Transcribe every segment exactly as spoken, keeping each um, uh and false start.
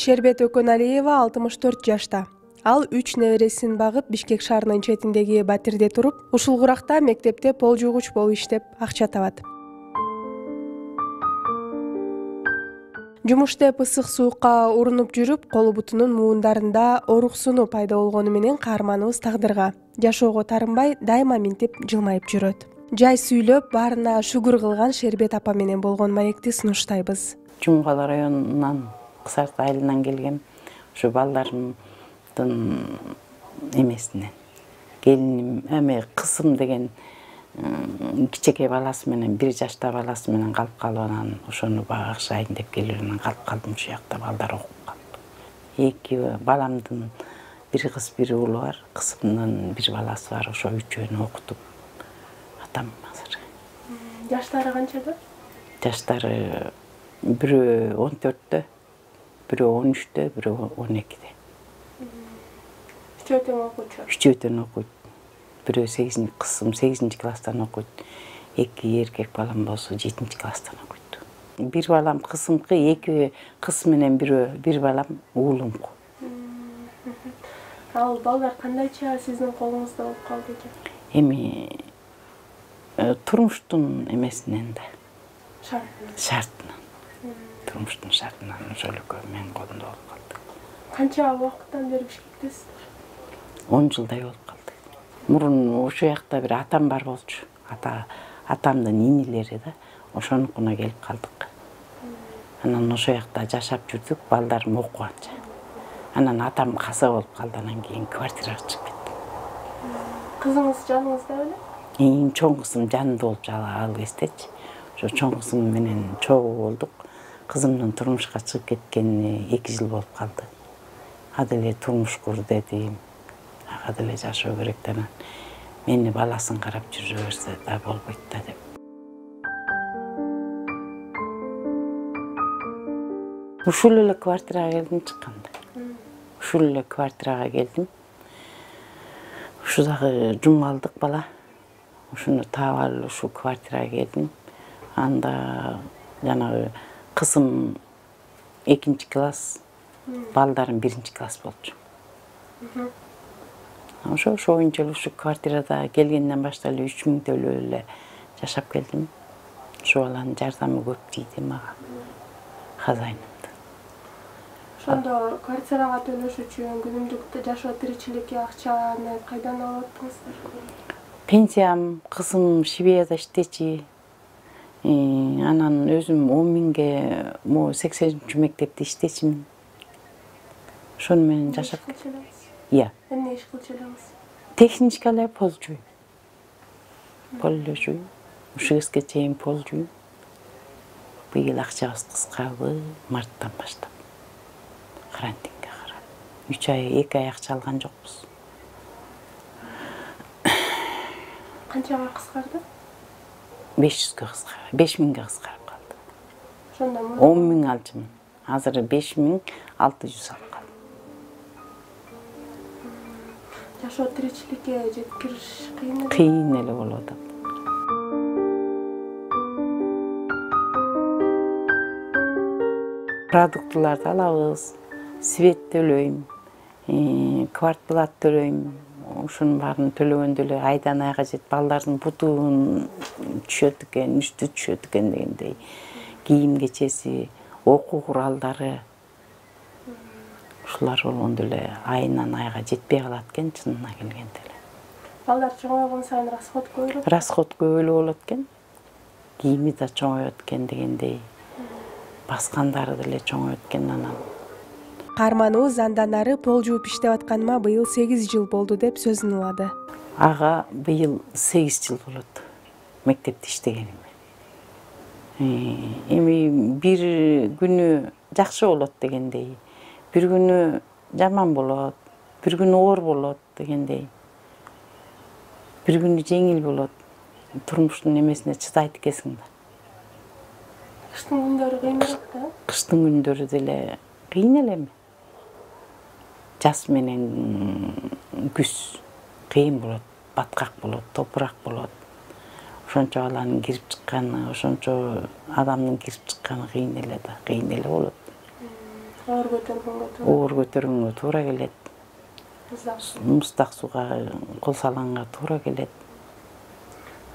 Шербет Өкөналиева алтымыш төрт жашта. Ал үч небересин багып Бишкек шаарынын четиндеги батирде туруп, ушул куракта мектепте пол жуугуч болуп иштеп акча табат. Жумуштеп ысык суукка урунуп жүрүп, колу бутунун муундарында ооруксуну пайда болгону менен каарманыбыз тагдырга жашоого тарынбай, дайыма минтип жылмайып жүрөт. Жай сүйлөп, баарына шүгүр кылган Шербет апа менен болгон маекти сунуштайбыз. Жумгал районунан Кысарт айылынан келгем. Ушу балдарымдын эмесинен. Келиним, эме кызым деген кичекей баласы менен, бир жашта баласы менен калып калып, анан ошону багышайын деп келип анан калып калдым. Ушул жакта балдар окуп калды. Эки баламдын бир кыз, бир уулу бар. Кызымдын бир баласы бар. Ошо үчөөнү окутуп атам азыр. Жаштары канчада? Жаштары бирөө он төрттө, бирөө он үчтө, бирөө он экиде. Үчөө тең окуучу? Үчөө тең окуйт. Бирөө сегизинчи, кызым сегизинчи класстан окуйт. Эки эркек балам болсо жетинчи класстан окуйт. Бир балам кызымкы, эки кыз менен бирөө бир балам уулумку. Ал балдар кандайча сиздин колуңузда болуп калды экен? Эми турмуштун эмесинен да. Шартынан. Шартынан. Турмуштун шартынан ошол экөө менин колумда болуп калды. Канча убакыттан бери Бишкектесиз? он жылдай болуп калды. Мурун ошол жакта бир атам бар болчу. Ата атамдын инилери да, ошонукуна келип калдык. Анан ошол жакта жашап жүрдүк, балдарым окуганча. Анан атам каза болуп калды, анан кийин квартирага чыгып кеттим. Кызыңыз жаныңызда беле? Эң чоң кызым жанымда болуп ал кездечи. Ошо чоң кызым менен чогуу болдук. Кызымдын турмушка чыгып кеткенине эки жыл болуп калды. Ада эле турмуш кур дедим. Ада эле жашоо керек да, анан мени баласын карап жүрө берсе да болбойт да деп. Ушул эле квартирага келдим чыкканда. Ушул эле квартирага келдим. Ушу дагы жумгалдык бала. Ушуну таап алып ушу квартирага келдим. Анда жанагы кызым экинчи класс, балдарым биринчи класс болчу. Ошо ошоюнча эле ушу квартирада келгенден баштап эле үч миң төлөп эле жашап келдим. Ошо баланын жардамы көп тийди мага. Хозяйнымдын. Ошондо квартирага төлөш үчүн күнүмдүк жашоо тиричиликке акчаны кайдан алып аттыңыздар? Пенсиям, кызым Швейцарияда иштечи. Анан өзүм он миңге могу сексенинчи мектепте иштечимин. Ошону менен жашап келдим. Иә. Эмне иш кылчу элеңиз? Техничка эле пол жууйм. Пол эле жууйм. Ушул кезге чейин пол жууйм. Быйыл акчабыз кыскарды, марттан баштап. Карантинге карап. үч ай, эки ай акча алган жокпуз. Канчага кыскарды? беш жүзгө кыскарды, беш миңге кыскарып калды. Ошондо он миң алчумун. Азыр беш миң алты жүз алып калдым. Жашоо тиричиликке жеткириш кыйын эле? Кыйын эле болуп атат. Продуктыларды алабыз, свет төлөйм, квартплат төлөйм. Ушунун баарын төлөгөндө эле айдан айга жет, балдардын бутун түшөт экен, үстү түшөт экен дегендей. Кийим кечеси, окуу куралдары. Ушулар болгондо эле айынан айга жетпей калат экен, чынына келгенде эле. Балдар чоңойгон сайын расход көбүрөөк? Расход көп эле болот экен. Кийими да чоңоет экен дегендей. Баскандары деле чоңоет экен анан. Каарманыбыз андан ары пол жууп иштеп атканыма быйыл сегиз жыл болду деп сөзүн улады. Ага быйыл сегиз жыл болот мектепте иштегениме. Эми бир күнү жакшы болот дегендей, бир күнү жаман болот, бир күнү оор болот дегендей. Бир күнү жеңил болот. Турмуштун эмесине чыдайт экенсиң да. Кыштын күндөрү кыйыныраак да? Кыштын күндөрү деле кыйын элеми. Жаз менен күз кыйын болот, баткак болот, топурак болот. Ошончо баланын кирип чыкканы, ошончо адамдын кирип чыкканы кыйын эле да, кыйын эле болот. оор көтөргөнгө туура. оор көтөргөнгө туура келет. Муздак сууга кол салганга туура келет.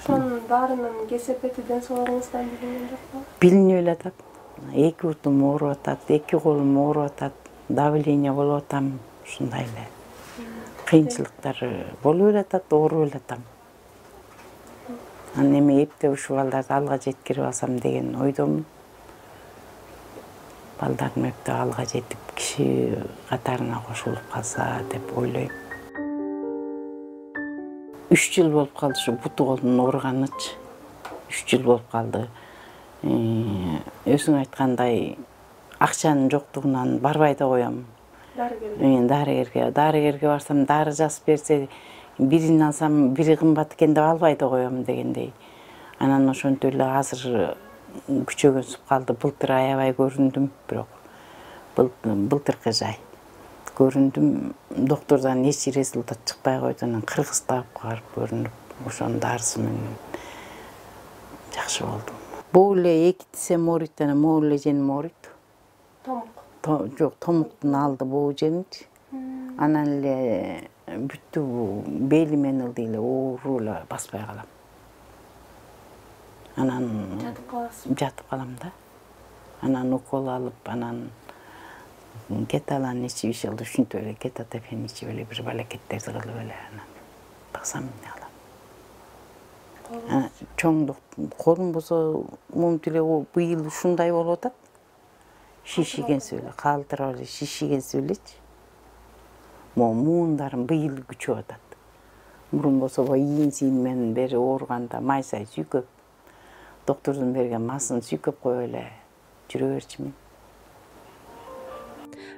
Ошонун баарынын кесепети ден соолугуңуздан билинген жокпу? Билинип эле атат. Эки бутум ооруп атат, эки колум ооруп атат, давление болуп атам, ушундай эле. Кыйынчылыктар болуп эле атат, ооруп эле атам. Анан эми эптеп ушул балдарды алга жеткирип алсам деген ойдомун. Балдарым эптеп алга жетип, киши катарына кошулуп калса деп ойлойм. Үч жыл болуп калды ушу буту колдун ооруганычы. Үч жыл болуп калды. Өзүң айткандай, акчанын жоктугунан барбай да коем. Дарыгерге. Мен дарыгерге, дарыгерге барсам, дары жазып берсе, бирин алсам, бири кымбат экен деп албай да коем дегендей. Анан ошентип эле азыр күчөгөнсүп калды. Былтыр аябай көрүндүм, бирок былтыркы жай. Көрүндүм, доктордон эч результат чыкпай койду. Анан Кыргызстапка барып көрүнүп, ошонун дарысы менен жакшы болдум. Бул эле эки тисем ооруйт, анан могул эле женим ооруйт. Томук. Жок, томуктун алды боо женичи. Анан эле бүттү белимен ылдый эле ооруп эле баспай калам. Анан жатып каласыз. Жатып калам да. Анан укол алып, анан кеталан ичип иши кылып, ушинтип эле кетотефен ичип эле бир балакеттерди кылып эле анан баксам эмне алам. Чоң колум болсо момунтип эле быйыл ушундай болуп атат. Шишигенсип эле, калтырап эле шишигенсип элечи. Могу муундарым быйыл күчөп атат. Мурун болсо иин сийин менен бери ооруганда майсай сүйкөп, доктордун берген масын сүйкөп коюп эле жүрө берчүмүн.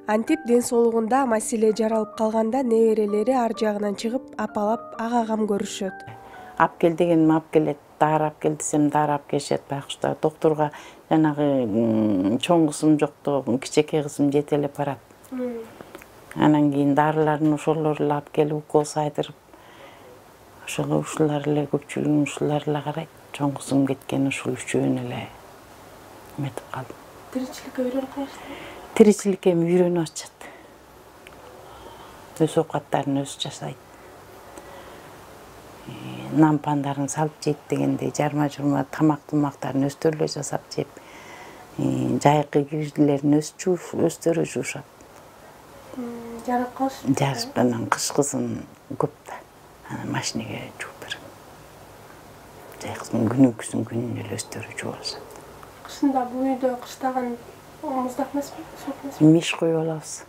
Антип ден соолугунда маселе жаралып калганда неберелери ар жагынан чыгып, апалап, ага кам көрүшөт. Ап кел дегеним ап келет, дары ап кел десем дары ап келишет. Байкуштар докторго жанагы чоң кызым жокту, кичинекей кызым жетелеп барат. Анан кийин дарыларын ошолор эле ап келип, укол сайдырып, ошол ушулар эле көпчүлүгүн ушулар эле карайт. Чоң кызым кеткен ушул үчөөнү эле эметип калдым. Тиричиликке үйрөнүп калыштыңбы? Тиричиликке эми үйрөнүп атышат. Өз оокаттарын өзү жасайт. Нан пандарын салып жейт дегендей, жарма-журма тамак-тумактарын өздөрү эле жасап жеп, жайкы кирдилерин өздөрү жуушат. Жарап калышты. Жарып, анан кышкысын көп да. Анан машинеге жууп берем. Жайкысын күнүнкүсүн күнүнө эле өздөрү жууп алышат. Кышында бул үйдө кыштаган муздак эмеспи? Суук эмеспи? Миш коюп алабыз.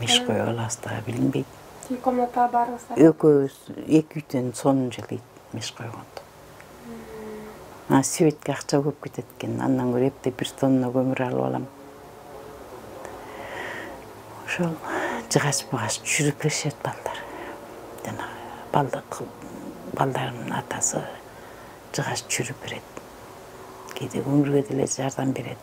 Миш коюп алабыз да, билинбейт. Үй комнатага барыңыздар. Экөөбүз эки үйдөн сонун жылыйт миш койгондо. А светке акча көп кетет экен. Андан көрө эптеп бир тонна көмүр алып алам. Ошол жыгач-бугач жүрүп беришет балдар. Жана балдык балдарымдын атасы жыгач жүрүп берет. Кээде өмүргө деле жардам берет.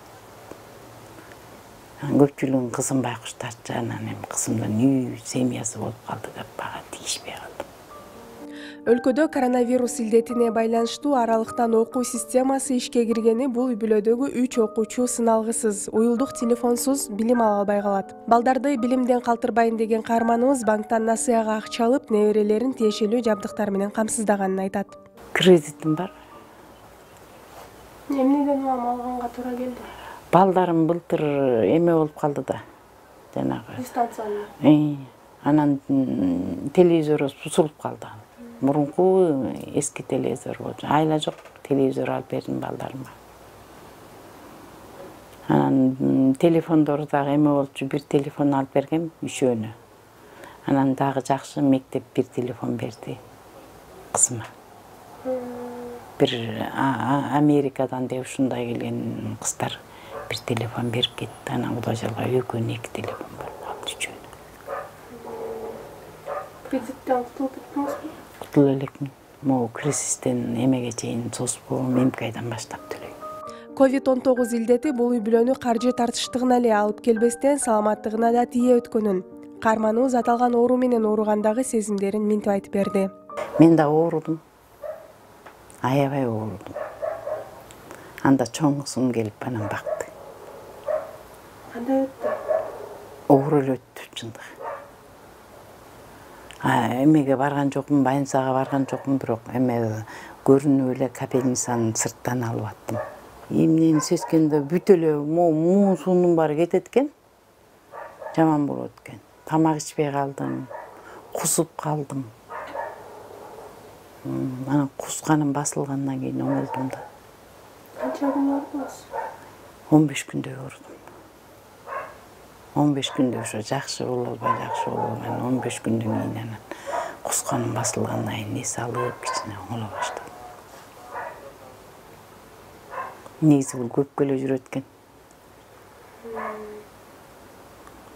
Көпчүлүгүн кызым байкуштарчы, анан эми кызымдын үй семьясы болуп калды деп бага тийишпей калдым. Өлкөдө коронавирус илдетине байланыштуу аралыктан окуу системасы ишке киргени бул үй-бүлөдөгү үч окуучу сыналгысыз, уюлдук телефонсуз билим ала албай калат. Балдарды билимден калтырбайын деген каарманыбыз банктан насыяга акча алып, неберелерин тиешелүү жабдыктар менен камсыздаганын айтат. Кредитим бар. Эмнеден улам алганга туура келди? Балдарым былтыр эме болуп калды да. Жанагы дистанциялуу. Анан телевизор бузулуп калды. Мурунку эски телевизор болчу. Айла жок, телевизор алып бердим балдарыма. Анан телефондору дагы эме болчу, бир телефон алып бергем үчөөнү. Анан дагы жакшы мектеп бир телефон берди кызыма. Бир Америкадан деп ушундай келген кыздар бир телефон берип кетти. Анан Кудай жалга экөөнүн эки телефон болуп калды үчөөнү. Кредиттен кутулуп кеттиңизби? Кутулуп элекмин. Могу кризистен эмеге чейин созбоо мемкайдан баштап төлөйм. ковид он тогуз илдети бул үй-бүлөнү каржы тартыштыгына эле алып келбестен саламаттыгына да тие өткөнүн. Каарманыбыз аталган оору менен ооругандагы сезимдерин минтип айтып берди. Мен да оорудум. Аябай оорудум. Анда чоң кызым келип анан бакты. Кандай өттү? Оор эле өттү чындыгы. Эмеге барган жокмун, больницага барган жокмун, бирок эме көрүнүп эле капельницаны сырттан алып аттым. Эмнени сескенде бүт эле муун суунун баары кетет экен. Жаман болот экен. Тамак ичпей калдым, кусуп калдым. Анан кусканым басылгандан кийин оңолдум да. Канча күн оорудуңуз? он беш күндөй оорудум. он беш күндө ошо жакшы боло албай, жакшы боло албай, он беш күндөн кийин анан кусканым басылгандан кийин эс алып, кичине оңоло баштадым. Негизи бул көпкө эле жүрөт экен.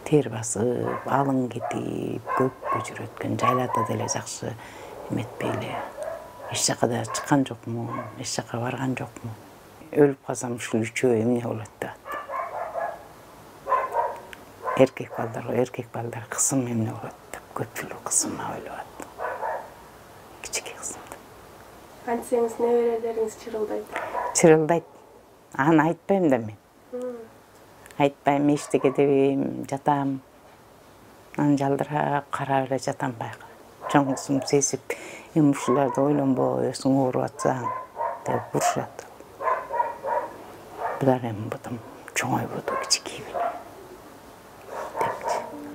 Тер басып, алың кетип, көпкө жүрөт экен. Жайларда деле жакшы эметпей эле. Эч жака да чыккан жокмун, эч жака барган жокмун. Өлүп калсам ушул үчөө эмне болот деп. Эркек балдар, эркек балдар кызым эмне болот деп көпчүлүк кызыма ойлоп аттым. Кичике кызымды. Антсеңиз неберелериңиз чырылдайт. Чырылдайт. Аны айтпайм да мен. Айтпайм, эчтеке дебейм, жатам. Анан жалдырап карап эле жатам байка. Чоң кызым сезип, эми ушуларды ойлонбой, өзүң ооруп атсаң деп урушат. Булар эми бутум чоңойбоду, кичикей беле.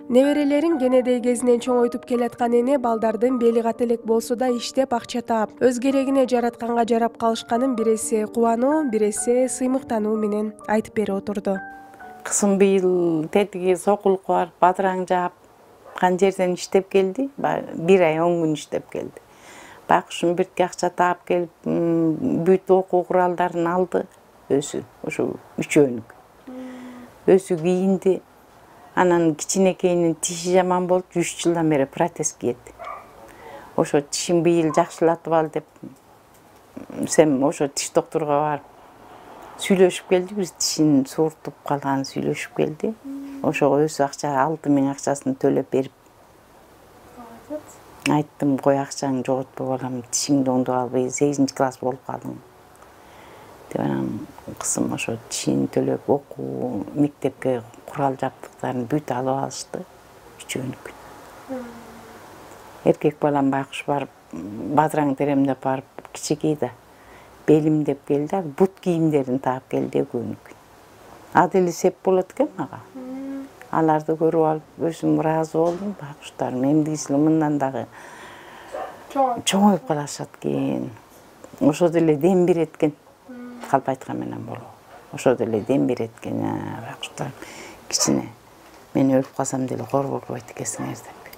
Неберелерин кенедей кезинен чоңойтуп келаткан эне балдардын бели ката элек болсо да иштеп акча таап, өз керегине жаратканга жарап калышканын бир эсе кубануу, бир эсе сыймыктануу менен айтып берип отурду. Кызым быйыл тетиги сокулукка барып, бадыраң жаапкан жерден иштеп келди. бир ай он күн иштеп келди. Байкушум биртке акча таап келип, бүт окуу куралдарын алды. Өзү, ошо үчөөнүк. Өзү кийинди. Анан кичинекейинин тиши жаман болуп, үч жылдан бери протез кийет. Ошо тишин быйыл жакшылатып ал деп, сем ошо тиш доктурга барып сүйлөшүп келди, бир тишин сууртуп калганын сүйлөшүп келди. Ошого өзү акча алты миң акчасын төлөп берип. Айттым, кой акчаңды жоготпой балам, тишиңди оңдоп албай, сегизинчи класс болуп калдың. Деп анан кызым ошо тишин төлөп, окуу, мектепке курал жабдыктарын бүт алып алышты. Үчөөнүк. Эркек балам байкуш барып, бадыраң теремдеп барып, кичикей да белим деп келди, бут кийимдерин таап келди экөөнүк. А деле сеп болот экен мага. Аларды көрүп алып, өзүм ыраазы болдум, байкуштарым эмдигисин мындан дагы чоңоюп калышат экен. Ошо деле дем берет экен. Калп айткан менен болобу. Ошо деле дем берет экен, байкуштарым. Кичине мен өлүп калсам деле кор болбойт экенсиңер деп.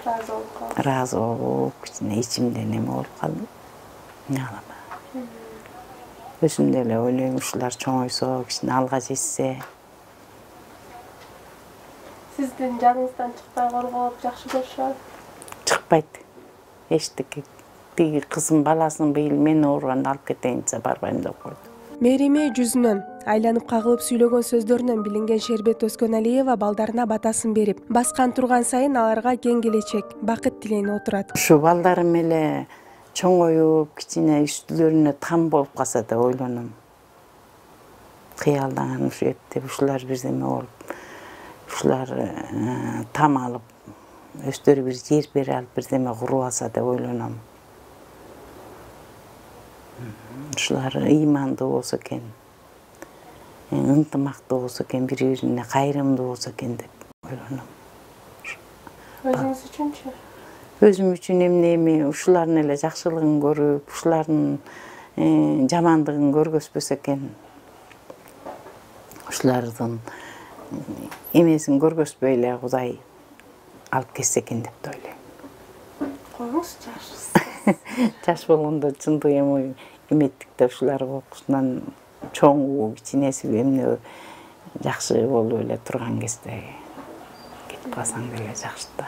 Ыраазы болуп калдым. Ыраазы болуп, кичине ичимде неме болуп калды. Эмне кылам? Өзүм деле ойлойм, ушулар чоңойсо, кичине алга жетсе. Сиздин жаныңыздан чыкпай корголоп жакшы көрүшөбү? Чыкпайт. Эчтеке тиги кызым баласын быйыл мен ооруганда алып кетейин десе барбайм деп койду. Мээрими жүзүнөн, айланып кагылып сүйлөгөн сөздөрүнөн билинген Шербет Өскөналиева балдарына батасын берип, баскан турган сайын аларга кең келечек, бакыт тилейин отурат. Ушу балдарым эле чоңоюп, кичине үстүлөрүнө там болуп калса деп ойлоном. Кыялданган ушу эптеп ушулар бирдеме болуп, ушулар там алып, өздөрү бир жер бере алып бирдеме куруп алса деп ойлоном. Ушулар ыймандуу болсо экен, ынтымактуу болсо экен, бири-бирине кайрымдуу болсо экен деп ойлоном. Өзүңүз үчүнчү? Өзүм үчүн эмне эми ушулардын эле жакшылыгын көрүп, ушулардын жамандыгын көргөзбөсө экен. Ушулардын эмесин көргөзбөй эле Кудай алып кетсе экен деп да ойлойм. Коңуз жашсыз. Жаш болгондо чындык эми эметтик да ушулар окуусунан чоңу, кичинеси эмне жакшы болуп эле турган кезде кетип калсаң деле жакшы да,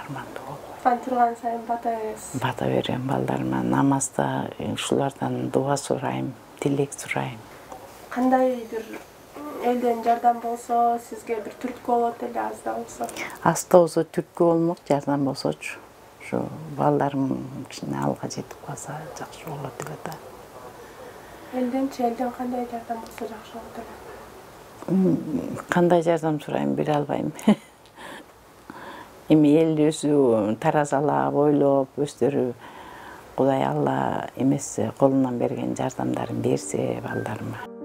армандуу болуп. Ан турган сайын бата бересиз. Бата берем балдарыма, намазда ушулардан дуа сурайм, тилек сурайм. Кандай бир элден жардам болсо, сизге бир түрткү болот эле, аз да болсо? Аз да болсо түрткү болмок, жардам болсочу. Ушу балдарым кичине алга жетип калса жакшы болот эле да. Элденчи элден кандай жардам болсо жакшы болот эле? Кандай жардам сурайм бере албайм. Эми эл өзү таразалап, ойлоп, өздөрү Кудай Алла эмесе колунан берген жардамдарын берсе балдарыма.